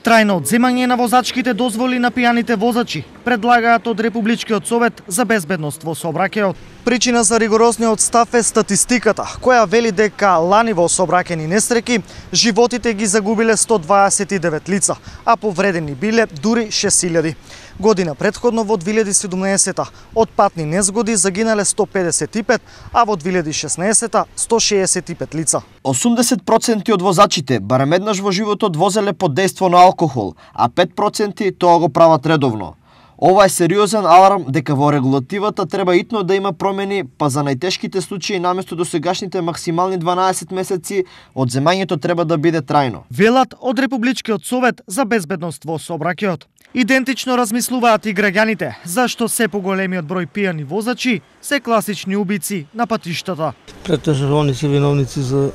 Трајно одземање на возачките дозволи на пијаните возачи, предлагаат од Републичкиот совет за безбедност во сообраќајот. Причина за ригорозниот став е статистиката, која вели дека лани во сообраќајни несреќи животите ги загубиле 129 лица, а повредени биле дури 6000. Година предходно во 2017 од патни незгоди загинале 155, а во 2016 165 лица. 80% од возачите барем еднаш во животот возеле под дејство на алкохол, а 5% тоа го прават редовно. Ова е сериозен аларм дека во регулативата треба итно да има промени, па за најтешките случаи наместо досегашните максимални 12 месеци, одземањето треба да биде трајно. Велат од Републичкиот совет за безбедност во сообраќајот. Идентично размислуваат и граѓаните, зашто се поголемиот број пијани возачи се класични убици на патиштата. Претежно они се виновници за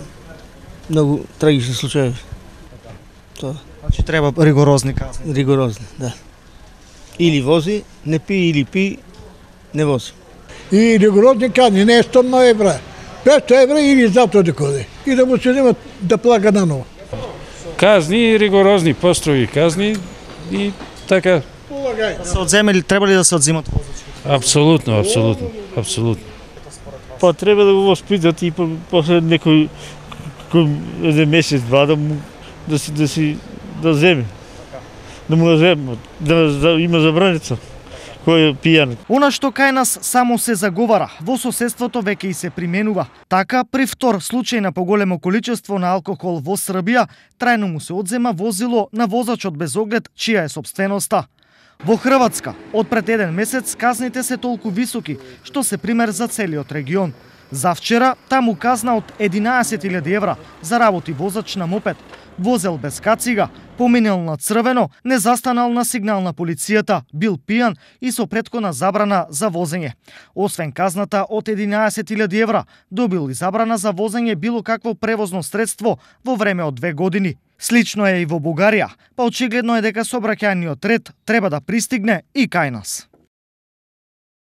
многу трагични случаи. Тоа. Значи треба ригорозни казни. Ригорозни, да. Или вози, не пи, или пи, не вози. И ригорозни казни, не е 100 евра. 500 евра или затоа да коди. И да му се нема да плага наново. Казни, ригорозни, построви казни и така. Да се одземели, треба ли да се одземат возачите? Апсолутно. Па треба да го воспитат и после некој еден месец, два да земе. Да му да има забраница кој е пијан. Она што кај нас само се заговара, во соседството веќе и се применува. Така, при втор случај на поголемо количество на алкохол во Србија, трајно му се одзема возило на возачот без оглед чија е сопственоста. Во Хрватска, од пред еден месец, казните се толку високи, што се пример за целиот регион. За вчера, таму казна од 11.000 евра за работи возач на мопед, возел без кацига, поминел на црвено, не застанал на сигнал на полицијата, бил пијан и со претходна забрана за возење. Освен казната од 11.000 евра, добил и забрана за возење било какво превозно средство во време од 2 години. Слично е и во Бугарија, па очигледно е дека сообраќајниот ред треба да пристигне и кај нас.